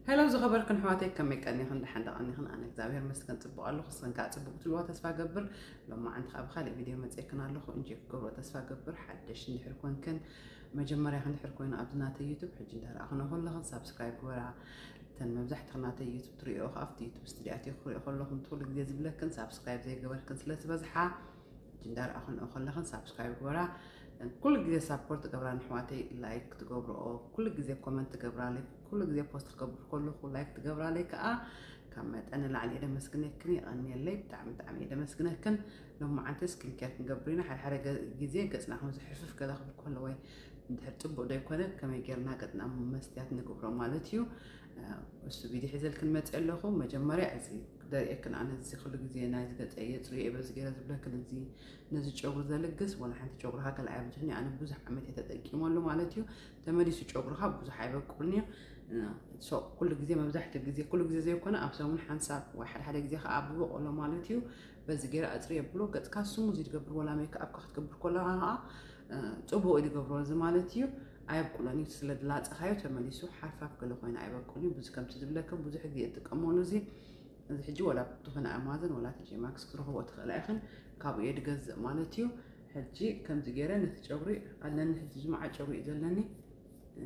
ሄሎ ዝኸበርክን ኣሕዋተይ፣ ከመይ ቀኒኽን? ደሓን ዶ ቀኒኽን? ኣነ እግዚኣብሔር ይመስገን ጽቡቕ ኣለኹ። ንስኽን ከኣ ጽቡቕ ትልዋ ተስፋ ገብር። ሎማዓንቲ ከኣ ብኻልእ ቪድዮ መጺኤክን ኣለኹ። እንጆይ ክገብሮ ተስፋ ገብር። ሓደሽ እንድሕር ኮንክን፣ መጀመርያኽን እንድሕር ኮይኑ ኣብዚ ናተይ ዩቱብ ሕጂ እንዳረኣኽንኦ ከለኽን ሳብስክራይብ ግበራ። እተን መብዛሕትኽን ናተይ ዩቱብ ትርእዮ ከኣ ኣብቲ ዩቱብ ስቱድዮ ኣትዮ ክርእዮ ከለኹም ኩሉ ግዜ ዝብለክን፣ ሳብስክራይብ ዘይገበርክን ስለ ዝበዝሓ፣ ሕጂ እንዳረኣኽንኦ ከለኽን ሳብስክራይብ ግበራ። ኩሉ ግዜ ሳፖርት ትገብራ ንኣሕዋተይ፣ ላይክ ትገብርኦ፣ ኩሉ ግዜ ኮመንት ትገብራለይ፣ ኩሉ ግዜ ፖስት ክገብር ከለኹ ላይክ ትገብራለይ ከኣ ካብ መጠን ንላዕሊ እየ ደመስግነክን። የቐንየለይ፣ ብጣዕሚ ብጣዕሚ እየ ደመስግነክን። ሎማዓንቲ ስኪን ኬር ክንገብር ኢና። ሓደ ሓደ ገ- ግዜ ገጽና ከም ዝሕፍፍ ገለ ክብል ከሎ ወይ እንድሕር ጽቡቕ ዘይኮነ ከመይ ጌርና ገጽና መስትያት ንገብሮ ማለት እዩ። እ፣ እሱ ቪድዮ ሒዘልክን መጽእ ኣለኹ። መጀመርያ እዚ ደርእየክን፣ ኣነ እዚ ኩሉ ግዜ ናይዚ ገጸይ የጽርዮ እየ በዚ ገይረ ዝብለክን፣ እዚ ነዚ ጨጉሪ ዘልግስ ወላ ሓንቲ ጨጉርኻ ገለ ኣየብዝሕን እዩ። ኣነ ብዙሕ ዓመት እየ ተጠቂመሉ ማለት እዩ። ተመሊሱ ጨጉርኻ ብዙሕ ኣይበቁልን እዩ። እ፣ ሶ ኩሉ ግዜ፣ መብዛሕትኡ ግዜ፣ ኩሉ ግዜ ዘይኮነ ኣብ ሰሙን ሓንሳብ ወይ ሓደ ሓደ ግዜ ከኣ ብበቆሎ ማለት እዩ። በዚ ገይረ ኣጽርየ ብሎ ገጽካ ስሙዝ ይገብር፣ ወላ ሜክኣፕ ክትገብር ከለኻ ከኣ፣ እ፣ ጽቡቕ ይገብሮ እዚ ማለት እዩ። ኣየብቁሎን እዩ፣ ስለ ዝላጸኻዮ ተመሊሱ ሓርፋፍ ገለ ኮይነ ኣይበቁልን እዩ። ብዙ ከምቲ ዝብለክን ብዙሕ ግዜ እጥቀመሉ እዚ። እዚ ሕጂ ወላ ዝኾነ ኣማዘን ወላ ቲጂ ማክስ ክትረኽቦ ትኽእላ ኢኽን፣ ካብኡ እየ ድገዝእ ማለት እዩ። ሕጂ ከምዚ ገይረ ነቲ ጨጉሪ ኣለኒ፣ ሕጂ እዚ መዓት ጨጉሪ እዩ ዘለኒ። እ፣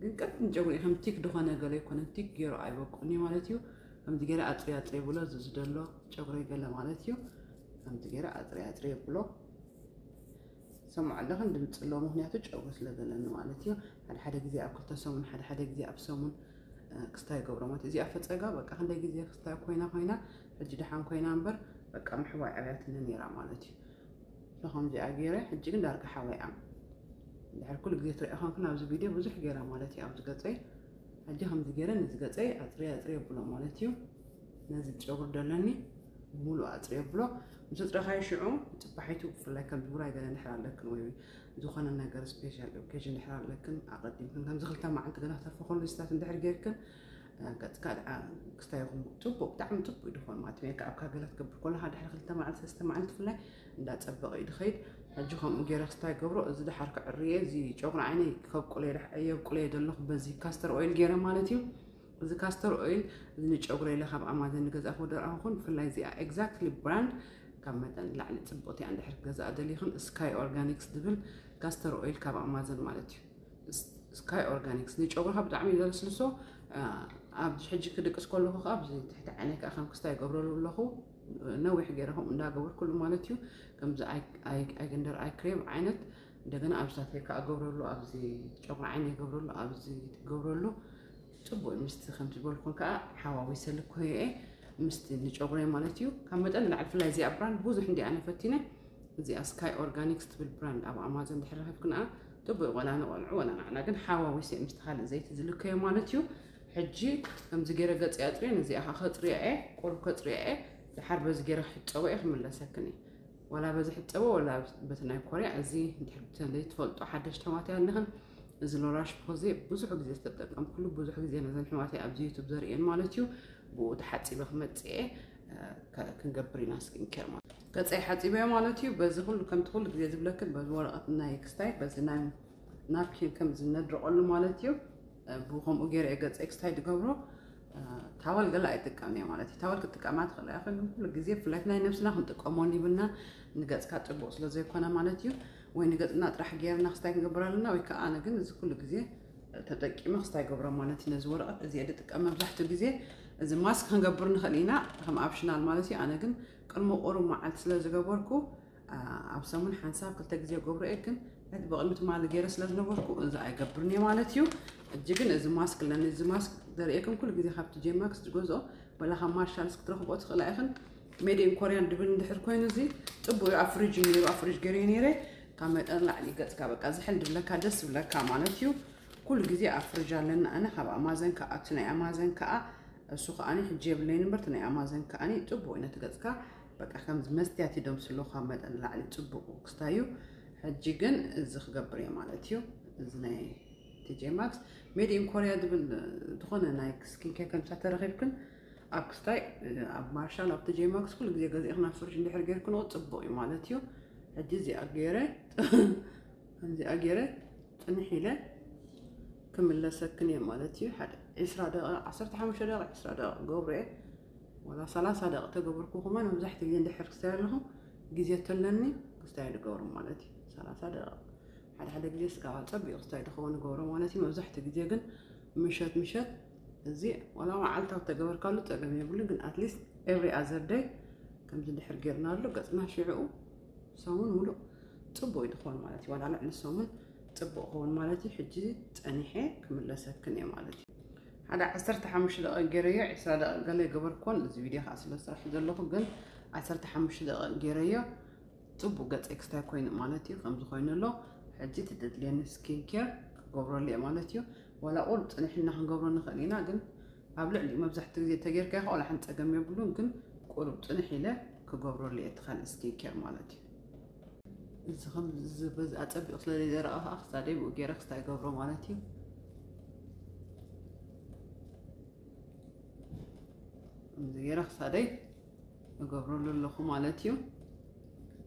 ግን ቀጢን ጨጉሪ እዩ፣ ከም ቲክ ዝኾነ ገለ ኣይኮነን፣ ቲክ ገይሩ ኣይበቁልኒ ማለት እዩ። ከምዚ ገይረ ኣጽሪ ኣጽሪ ብሎ፣ እዚ ዝደሎ ጨጉሪ ገለ ማለት እዩ። ከምዚ ገይረ ኣጽሪ ኣጽሪ ብሎ። ሰምዖ ኣለኽን ድምፂ ኣሎ፣ ምኽንያቱ ጨጉሪ ስለ ዘለኒ ማለት እዩ። ሓደ ሓደ ግዜ ኣብ ክልተ ሰሙን፣ ሓደ ሓደ ግዜ ኣብ ሰሙን፣ እ፣ ክስታይ ይገብሮ ማለት እዩ። እዚኣ ፈፀጋ በቃ ክንደይ ግዜ ክስታይ ኮይና ኮይና፣ ሕጂ ደሓን ኮይና እምበር በቃ ምሕዋይ ኣብያትኒ ነይራ ማለት እዩ። ከምዚኣ ገይረ፣ ሕጂ ግን ዳርጋ ሓዋይ እያ። ድሕሪ ኩሉ ግዜ ትሪኦ ኮንክን ኣብዚ ቪድዮ ብዙሕ ገይራ ማለት እዩ ኣብዚ ገፀይ። ሕጂ ከምዚ ገይረ ነዚ ገፀይ ኣፅርየ ኣፅርየ ብሎ ማለት እዩ። ነዚ ጨጉሪ ደለኒ ብምሉእ ኣፅርየ ብሎ። ምስ ኣፅረኻዮ ሽዑ ፅባሒቱ ብፍላይ ከም ውራይ ገለ እንድሕር ኣለክን ወይ ዝኾነ ነገር ስፔሻል ኦኬዥን እንድሕር ኣለክን ኣቐዲምክን ከምዚ ክልተ መዓልቲ ገለ ክተርፎ ከሎ ስታት እንድሕር ጌርክን፣ እ፣ ገፅካ ደኣ ክስታይ ይኹን ጽቡቕ፣ ብጣዕሚ ጽቡቕ እዩ ድኾን ማለት እዩ። ሜክኣፕካ ገለ ክትገብር ከለኻ ድሕሪ ክልተ መዓልቲ ሰለስተ መዓልቲ ብፍላይ እንዳጸበቐ እዩ ድኸይድ። ሕጂ ከምኡ ገይረ ክስታይ ገብሮ፣ እዚ ደሓር ክዕርየ፣ እዚ ጨጉሪ ዓይነይ ከብቁለየ ደሕ-፣ የብቁለየ ዘለኹ በዚ ካስተር ኦይል ገይረ ማለት እዩ። እዚ ካስተር ኦይል እዚ ንጨጉረይ ኢለ ካብ ኣማዘን ንገዛእኹ ደረኣኹን፣ ብፍላይ እዚኣ ኤግዛክትሊ ብራንድ ካብ መጠን ንላዕሊ ጽብቕቲ እያ። እንድሕር ክገዝኣ ደሊኽን ስካይ ኦርጋኒክስ ዝብል ካስተር ኦይል ካብ ኣማዘን ማለት እዩ። ስ-፣ ስካይ ኦርጋኒክስ ንጨጉርኻ ብጣዕሚ እዩ ዘልስልሶ። አ፣ ኣብ ሕጂ ክድቅስ ከለኹ ከዓ ኣብዚ ትሕቲ ዓይነይ ከዓ ከም ክስታይ ይገብረሉ ኣለኹ። ነዊሕ ገይረ ከምኡ እንዳገበርኩሉ ማለት እዩ። ከምዚ ኣይ-፣ ኣይ-፣ ኣይገንደር ኣይ ክሬም ዓይነት እንደገና ኣብዚታት ከዓ ገብረሉ፣ ኣብዚ ጨጉሪ ዓይነይ ገብረሉ፣ ኣብዚ ገብረሉ። ጽቡቕ እዩ። ምስቲ ከምቲ ዝበልኩን ከዓ ሓዋዊሰ ልኮየ ምስቲ ንጨጉረይ ማለት እዩ። ካብ መጠን ንላዕሊ ብፍላይ እዚኣ ብራንድ ብዙሕ እንዲ ኣነ ፈቲነ። እዚኣ ስካይ ኦርጋኒክስ ትብል ብራንድ ኣብ ኣማዞን ድሕሪ ረኺብክንኣ ጥቡቕ፣ ወላ ንቆልዑ ወላ ንዓና ግን ሓዋዊሰ ምስቲ ካልእ ዘይቲ ዝልከዮ ማለት እዩ። ሕጂ ከምዚ ገይረ ገጽ ኣጽርየ፣ ነዚኣ ከኣ ከጽርያ እየ፣ ቁሩብ ከጽርያ እየ። ድሓር በዚ ገይረ ክሕጸቦ እየ ክምለሰክን እየ። ወላ በዚ ሕጸቦ ወላ በቲ ናይ ኮርያ። እዚ እንድሕር ብተለይ ትፈልጦ ሓደሽቲ ኣሕዋተይ ኣለኽን፣ እዚ ሎራሽ ፖዜ ብዙሕ ግዜ ዝተጠቀምኩሉ፣ ብዙሕ ግዜ ነዘን ኣሕዋተይ ኣብዚ ዩቱብ ዘርእየን ማለት እዩ። ብኡ ተሓጺበ ክመጽእ እየ፣ እ፣ ከ-፣ ክንገብር ኢና ስኪን ኬር ማለት እዩ። ገጸይ ሓጺበ ማለት እዩ። በዚ ኩሉ ከምቲ ኩሉ ግዜ ዝብለክን በዚ ወረቐት ናይ ክስታይ በዚ ናይ ናፕኪን ከም ዝነድርቐሉ ማለት እዩ። እ፣ ብኡ ከምኡ ገይረ እየ ገጸይ ክስታይ ዝገብሮ። እ፣ ታወል ገለ ኣይጥቀምን እየ ማለት እዩ። ታወል ክትጥቀማ ትኽእላ ኢኽን፣ ግን ኩሉ ግዜ ብፍላይ ናይ ነብስና ክንጥቀሞ ይብልና፣ ንገጽካ ጽቡቕ ስለ ዘይኮነ ማለት እዩ። ወይ ንገጽና ጥራሕ ገይርና ክስታይ ክንገብር ኣለና፣ ወይ ከዓ ኣነ ግን እዚ ኩሉ ግዜ ተጠቂመ ክስታይ ገብሮ ማለት እዩ። ነዚ ወረቐት እዚ እየ ዝጥቀም መብዛሕትኡ ግዜ። እዚ ማስክ ክንገብር ንኽእል ኢና ከም ኣፕሽናል ማለት እዩ። ኣነ ግን ቅድሚ ቁሩብ መዓልቲ ስለ ዝገበርኩ፣ ኣ፣ ኣብ ሰሙን ሓንሳብ ክልተ ግዜ ገብሮ እየ፣ ግን ሕጂ ብቕድሚ ትማሊ ገይረ ስለ ዝነበርኩ እዚ ኣይገብርን እየ ማለት እዩ። ሕጂ ግን እዚ ማስክ ኣለኒ። እዚ ማስክ ዘርእየክን ኩሉ ግዜ ካብ ቲ ጄ ማክስ ዝገዝኦ፣ ወላ ካብ ማርሻልስ ክትረኽቦ ትኽእላ ኢኽን። ሜድ ኢን ኮርያን ድብል እንድሕር ኮይኑ እዚ ጽቡቕ እዩ። ኣብ ፍሪጅ ነይሩ፣ ኣብ ፍሪጅ ገይረዮ ነይረ። ካብ መጠን ላዕሊ ገጽካ በቃ ዝሕል ድብለካ፣ ደስ ዝብለካ ማለት እዩ። ኩሉ ግዜ ኣብ ፍሪጅ ኣለና። ኣነ ካብ ኣማዘን ከኣ፣ እቲ ናይ ኣማዘን ከኣ፣ እሱ ከኣኒ ሕጂ የብለይን እምበር፣ እቲ ናይ ኣማዘን ከኣኒ ጽቡቕ እዩ ነቲ ገጽካ። በቃ ከምዚ መስትያት ይደምስሎ ካብ መጠን ላዕሊ ጽቡቕ ክስታይ እዩ። ሕጂ ግን እዚ ክገብር እየ ማለት እዩ። እዚ ናይ ቲ ጄ ማክስ ሜድ ኢን ኮርያ ዝብል ዝኾነ ናይ ስኪን ኬር ከምሳ ተረኺብክን ኣብ ክስታይ፣ ኣብ ማርሻል፣ ኣብ ቲ ጄ ማክስ ኩሉ ግዜ ገዚእኽን ኣብ ፍሪጅ እንድሕር ጌርክንኦ ጽቡቕ እዩ ማለት እዩ። ሕጂ እዚኣ ገይረ፣ ከምዚኣ ገይረ ጽንሕ ኢለ ክምለሰክን እየ ማለት እዩ። ሓደ ዒስራ ደቂቕ፣ ዓሰርተ ሓሙሽተ ደቂቕ፣ ዒስራ ደቂቕ ገብሮ እየ። ዋላ ሰላሳ ደቂቕ ተገበርኩ ከማን መብዛሕትኡ ግዜ እንድሕር ክስታይ ኣለኹ፣ ግዜ ተለኒ ክስታይ ዝገብሮ ማለት እዩ። ሰላሳ ደቂቕ። ሓደ ሓደ ግዜ ስጋባ ጸቢቑ ክስታይ ዝኸውን ገብሮ ማለት እዩ። መብዛሕትኡ ግዜ ግን ምሸት ምሸት እዚ ዋላ መዓልታዊ ተገበርካሉ ጸገም የብሉን፣ ግን at least every other day ከምዚ እንድሕር ጌርናሉ ገጽና ሽዕኡ ሰሙን ሙሉእ ጽቡቕ እዩ ዝኸውን ማለት እዩ። ዋላ ልዕሊ ሰሙን ጽቡቕ ክኸውን ማለት እዩ። ሕጂ ጸኒሐ ክምለሰክን እየ ማለት እዩ። ሓደ ዓሰርተ ሓሙሽተ ደቂቕ ገይረዮ፣ ዒስራ ደቂቕ ገለ ገበርኮን፣ እዚ ቪድዮ ከዓ ስለ ዝሰርሕ ዘለኹ፣ ግን ዓሰርተ ሓሙሽተ ደቂቕ ገይረዮ፣ ጽቡቕ ገጸይ ክስታይ ኮይኑ ማለት እዩ። ከምዚ ኮይኑ ኣሎ። ሕጂ እቲ ዘድልየኒ ስኪን ኬር ክገብረሉ እየ ማለት እዩ። ዋላ ቁሩብ ጽንሕ ኢልና ክንገብሮ ንኽእል ኢና፣ ግን ኣብ ልዕሊኡ መብዛሕትኡ ግዜ ተጌርካ ይኸ ዋላ ሓንቲ ጸገም የብሉን፣ ግን ቁሩብ ጽንሕ ኢለ ክገብረሉ እየ እቲ ካልእ ስኪን ኬር ማለት እዩ። እዚ ከም እዚ በዚ ኣጸቢቑ ስለ ዘይደረቐ ከዓ ክሳደይ ብኡ ገይረ ክስታይ ገብሮ ማለት እዩ። ከምዚ ገይረ ክሳደይ እገብረሉ ኣለኹ ማለት እዩ።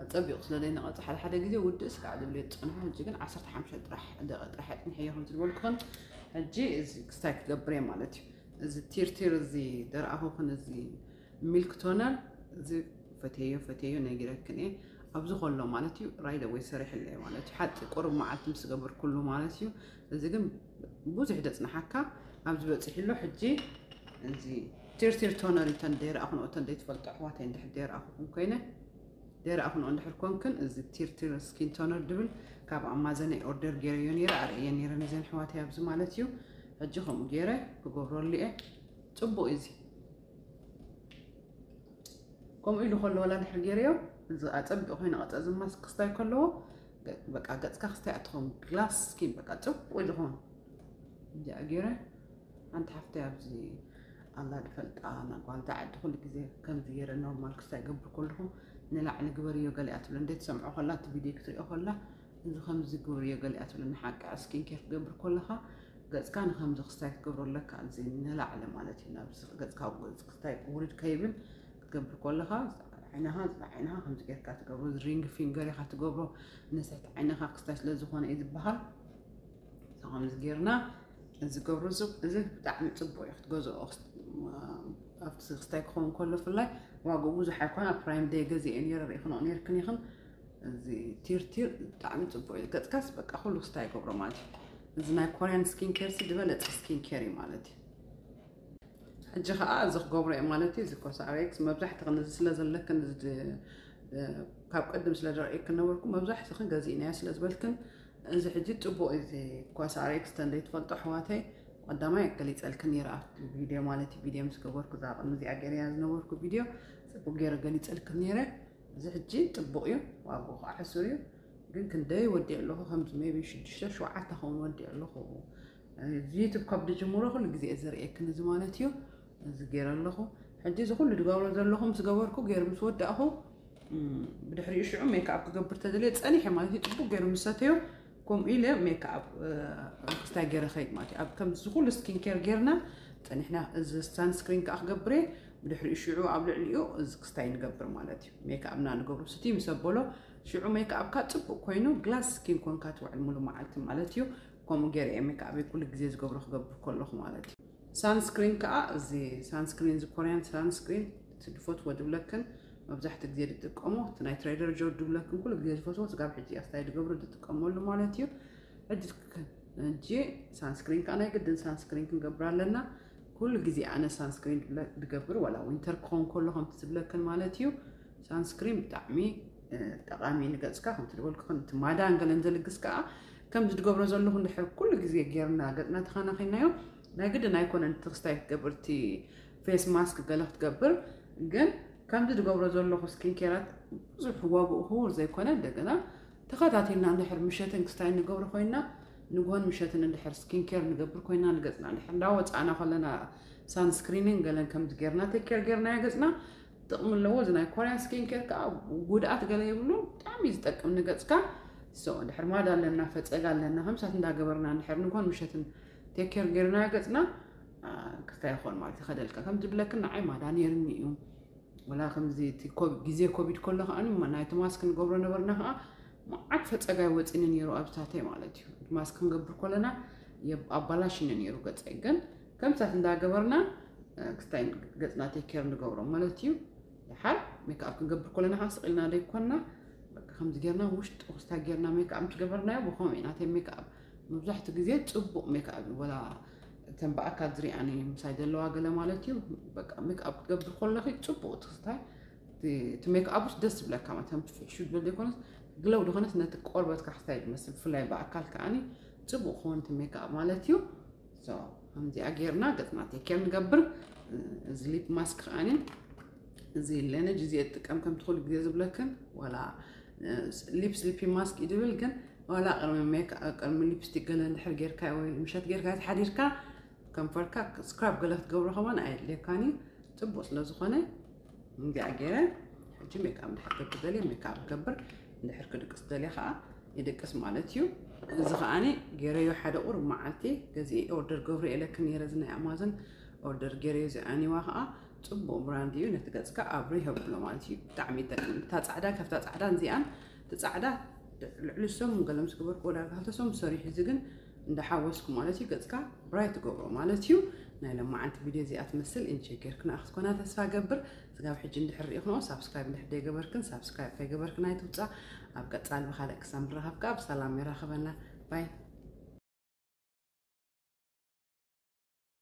ኣጸቢቑ ስለ ዘይነቐጸ ሓደ ሓደ ግዜ ውድእስ ከዓ ዝብለ ዝጸንሑ፣ ሕጂ ግን ዓሰርተ ሓሙሽተ ጥራሕ ደቂቕ ጥራሕ ኣጽንሐዮ ከም ዝበልኩኽን፣ ሕጂ እዚ ክስታይ ክገብር እየ ማለት እዩ። እዚ ቲርቲር እዚ ደረኣኹኽን እዚ ሚልክ ቶነር እዚ ፈትየዮ ፈትየዮ ነጊረክን እየ። ኣብዚ ከሎ ማለት እዩ ራይደ ወይ ሰሪሕለ እየ ማለት እዩ። ሓፂ ቁሩብ መዓልቲ ምስ ገበርኩሉ ማለት እዩ። እዚ ግን ብዙሕ ደፅናሓካ ኣብዚ በፂሕሎ። ሕጂ እዚ ቲርቲር ቶነር እዩ። ተን ደይረኣኹንኦ፣ ተን ደይትፈልጦ ኣሕዋተይ እንድሕር ደይረኣኹኹም ኮይነ፣ ደይረኣኹንኦ እንድሕር ኮንክን፣ እዚ ቲርቲር ስኪን ቶነር ድብል ካብ ኣማዘን ኦርደር ገይረዮ ነይረ፣ ኣርእየ ነይረ ነዘን ኣሕዋተይ ኣብዚ ማለት እዩ። ሕጂ ከምኡ ገይረ ክገብረሉ እየ። ጽቡቕ እዩ እዚ። ከምኡ ኢሉ ከሎ ዋላ ድሕር ገይረዮ፣ እዚ ኣጸቢቑ ኮይኑ ቀጸ፣ እዚ ማስክ ክስታይ ከለዎ፣ ገ-፣ በቃ ገጽካ ክስታይ ኣትኸውን፣ ግላስ ስኪን በቃ ጽቡቕ ኢሉ ኸውን። እዚኣ ገይረ፣ ሓንቲ ሓፍተይ ኣብዚ ኣላ ዝፈልጣ፣ ና ጓል ዳዓዲ ኩሉ ግዜ ከምዚ ገይረ ኖርማል ክስታይ ገብር ከለኹ፣ ንላዕሊ ግበርዮ ገሊኣ ትብለ፣ እንዴት ትሰምዖ ከላ፣ እቲ ቪድዮ ክትሪኦ ከላ፣ እዚ ከምዚ ግበርዮ ገሊኣ ትብለ፣ ንሓቂ ስኪን ኬር ክትገብር ከለኻ፣ ገጽካ ንኸምዚ ክስታይ ክትገብሮ ኣለካ፣ እዚ ንላዕሊ ማለት እዩ። ናብ ገጽካ፣ ገጽ ክስታይ ውርድ ከይብል ክትገብር ከለኻ፣ ዓይንኻ፣ ዓይንኻ ከምዚ ጌርካ ትገብሮ፣ እዚ ሪንግ ፊንገር ኢኻ ትገብሮ፣ ንስሕት ዓይንኻ ክስታይ ስለ ዝኾነ እዩ ዝበሃል። So ከምዚ ጌርና እዚ ገብሮ፣ እዚ፣ እዚ ብጣዕሚ ጽቡቕ እዩ ክትገዝኦ፣ ክስ-፣ ኣብቲ ክስታይ ክኸውን ከሎ ብፍላይ ዋግኡ ብዙሕ ኣይኮነ፣ ኣብ ፕራይም ደይ ገዚኤ ነይረ፣ ርኢኽንኦ ነይርክን ኢኽን። እዚ ቲርቲር ብጣዕሚ ጽቡቕ እዩ። ገጽካስ በቃ ኩሉ ክስታይ ይገብሮ ማለት እዩ። እዚ ናይ ኮርያን ስኪን ኬር ሲ ዝበለጸ ስኪን ኬር እዩ ማለት እዩ። ሕጂ ኸኣ እዚ ክገብሮ እየ ማለት እዩ። እዚ ኮሳሬክስ መብዛሕትኽን እዚ ስለ ዘለክን፣ እዚ ድ-፣ እ፣ ካብ ቅድም ስለ ዝረእየክን ነበርኩ፣ መብዛሕትኽን ገዚእናዮ ስለ ዝበልክን፣ እዚ ሕጂ ጽቡቕ እዩ። እዚ ኮሳሬክስ ተንደይ ትፈልጦ ኣሕዋተይ፣ ቀዳማይ ገሊጸልክን ነይረ ኣብቲ ቪድዮ ማለት እዩ። ቪድዮ ምስ ገበርኩ እዛ ቅድሚ እዚኣ ገይረያ ዝነበርኩ ቪድዮ ጽቡቕ ገይረ ገሊጸልክን ነይረ። እዚ ሕጂ ጽቡቕ እዩ፣ ዋግኡ ከዓ ሕሱር እዩ። ግን ክንደይ ወዲእ ኣለኹ፣ ከምዚ ሜቢ ሽዱሽተ ሸውዓተ ኸውን ወዲእ ኣለኹ። እዚ ዩቱብ ካብ ድጅምሮ ኩሉ ግዜ እየ ዘርእየክን እዚ ማለት እዩ። እዚ ገይረ ኣለኹ። ሕጂ እዚ ኩሉ ድገብሮ ዘለኹ ምስ ገበርኩ፣ ገይሩ ምስ ወዳእኹ፣ እም፣ ብድሕሪኡ ሽዑ ሜክኣፕ ክገብር ተደልየ ጸኒሐ ማለት እዩ። ጽቡቕ ገይሩ ምስ ሰተዮ፣ ከምኡ ኢለ ሜክኣፕ፣ እ፣ ክስታይ ገይረ ኸይድ ማለት እዩ። ኣብ ከምዚ ኩሉ ስኪን ኬር ጌርና ጸኒሕና፣ እዚ ሳንስክሪን ከኣ ክገብር እየ። ብድሕሪኡ ሽዑ ኣብ ልዕሊኡ እዚ ክስታይ ንገብር ማለት እዩ። ሜክኣፕና ንገብሮ ስቲ ምስ ኣበሎ፣ ሽዑ ሜክኣፕካ ጽቡቕ ኮይኑ ግላስ ስኪን ኮንካ ትውዕል ሙሉ መዓልቲ ማለት እዩ። ከምኡ ገይረ እየ ሜክኣፕ ኩሉ ግዜ ዝገብሮ ክገብር ከለኹ ማለት እዩ። ሳንስክሪን ከኣ እዚ ሳንስክሪን፣ እዚ ኮርያን ሳንስክሪን፣ እቲ ድፈትዎ ድብለክን፣ መብዛሕትኡ ግዜ ዝጥቀሞ፣ እቲ ናይ ትሬደር ጆ ድብለክን ኩሉ ግዜ ዝፈትዎ፣ ስጋብ ሕጂ እያ ስታይ ድገብሮ ዝጥቀመሉ ማለት እዩ። ሕጂ ክ-፣ ሕጂ ሳንስክሪን ከኣ ናይ ግድን ሳንስክሪን ክንገብር ኣለና። ኩሉ ግዜ ኣነ ሳንስክሪን ድብለ-፣ ድገብር፣ ዋላ ዊንተር ክኸውን ከሎ ከምቲ ዝብለክን ማለት እዩ። ሳንስክሪን ብጣዕሚ፣ እ፣ ጠቓሚ ንገጽካ፣ ከምቲ ዝበልኩ፣ ከም እቲ ማዳን ገለን ዘልግስ ከኣ፣ ከምዚ ድገብሮ ዘለኹ እንድሕር ኩሉ ግዜ ጌርና ገጽና ተኸናኺናዮ፣ ናይ ግድን ኣይኮነን እቲ ክስታይ ክትገብር፣ እቲ ፌስ ማስክ ገለ ክትገብር፣ ግን ከምዚ ድገብሮ ዘለኹ ስኪን ኬራት ብዙሕ ዋግኡ ክቡር ዘይኮነ፣ እንደገና ተኸታቲልና እንድሕር ምሸትን ክስታይ ንገብሮ ኮይና፣ ንግሆን ምሸትን እንድሕር ስኪን ኬር ንገብር ኮይና፣ ንገጽና እንድሕር እንዳወጻእና ከለና ሳንስክሪንን ገለን ከምዚ ጌርና ቴክ ኬር ጌርናዮ ገጽና ጥቕሚ ኣለዎ። እዚ ናይ ኮርያን ስኪን ኬር ከኣ ጉድኣት ገለ የብሉን፣ ብጣዕሚ እዩ ዝጠቅም ንገጽካ። ሶ እንድሕር ማዳ ኣለና፣ ፈጸጋ ኣለና፣ ከምሳት እንዳገበርና እንድሕር ንግሆን ምሸትን ቴክ ኬር ጌርናዮ ገጽና፣ አ፣ ክስታይ ይኾን ማለት ይኸደልካ። ከም ዝብለክን ንዓይ ማዳ ነይርኒ እዩ። ወላ ከምዚ እቲ ኮ-፣ ግዜ ኮቪድ ከሎ ከኣ ማ-፣ ናይቲ ማስክ ንገብሮ ነበርና ከኣ መዓት ፈጸጋ ይወጽኒ ነይሩ ኣብ ሳተይ ማለት እዩ። እቲ ማስክ ክንገብር ከለና የብ-፣ ኣባላሽኒ ነይሩ ገጸይ። ግን ከምሳት እንዳገበርና ክስታይ ገፅና ቴክ ኬር ንገብሮ ማለት እዩ። ድሓር ሜክኣፕ ክንገብር ከለና ከዓ ስቕ ኢልና ደይኮንና፣ በቃ ከምዚ ጌርና ውሽጡ ክስታይ ጌርና ሜክኣፕ እንትገበርናዮ ብኸምኡ ኢና። ናተይ ሜክኣፕ መብዛሕትኡ ግዜ ፅቡቕ ሜክኣፕ እዩ። ወላ እተን ብኣካል ዝሪኣኒ ምሳይ ዘለዋ ገለ ማለት እዩ። በቃ ሜክኣፕ ክትገብር ከለኺ ፅቡቕ እቲ ክስታይ እቲ ሜክኣፕ ውስጥ ደስ ዝብለካ ማለት ከም ፍሕሹ ድብል ዘይኮነስ ግለው ዝኾነስ ነቲ ቆርበትካ ክስታይ ዝመስል ብፍላይ ብኣካል ከዓኒ ፅቡቕ ክኸውን እቲ ሜክኣፕ ማለት እዩ። ከምዚኣ ጌርና ገፅና ቴክ ኬር ንገብር። እዚ ሊፕ ማስክ ከዓኒ እዚ ለነጅ እዚ እጥቀም ከም ትኽእሉ ግዜ ዝብለክን ዋላ ሊፕ ስሊፒ ማስክ እዩ ድብል ግን ዋላ ቅድሚ ሜክ ቅድሚ ሊፕስቲክ ገለ እንድሕር ጌርካ ወይ ምሸት ጌርካ ተሓዲርካ ከንፈርካ ስክራብ ገለ ክትገብሮ ከማን ኣየድልየካን እዩ። ፅቡቅ ስለ ዝኾነ እንዲኣ ገይረ ሕጂ ሜክኣፕ እንድሕር ክገብር ደልየ ሜክኣፕ ክገብር፣ እንድሕር ክድቅስ ደልየ ከዓ ይድቅስ ማለት እዩ። እዚ ከዓኒ ገይረዮ ሓደ ቁሩብ መዓልቲ ገዚኤ ኦርደር ገብሮ ኢለክን ነይረ። እዚ ናይ ኣማዞን ኦርደር ገይረዮ እዚ ኣኒዋ ከዓ ፅቡቅ ብራንድ እዩ። ነቲ ገፅካ ኣብሪ ይህብሎ ማለት እዩ። ብጣዕሚ ይጠቅም። እታ ፃዕዳ ካብታ ፃዕዳ እዚኣን እቲ ፃዕዳ ልዕሊ ሰሙን ገለ ምስ ገበርኩ ወላ ክልተ ሰሙን ሰሪሑ። እዚ ግን እንዳሓወስኩ ማለት እዩ ገፅካ ብራይት ትገብሮ ማለት እዩ። ናይ ለማዓንቲ ቪድዮ እዚኣ ትመስል ኢንጆይ ጌርክና ክትኮና ተስፋ ገብር። ስጋብ ሕጂ እንድሕር ሪኢኽኖ ሳብስክራይብ እንድሕር ደይገበርክን ሳብስክራይብ ከይገበርክን ኣይትውፃ። ኣብ ቀፃሊ ብካልእ ክሳብ ንራኸብ ከዓ ብሰላም የራኽበና። ባይ።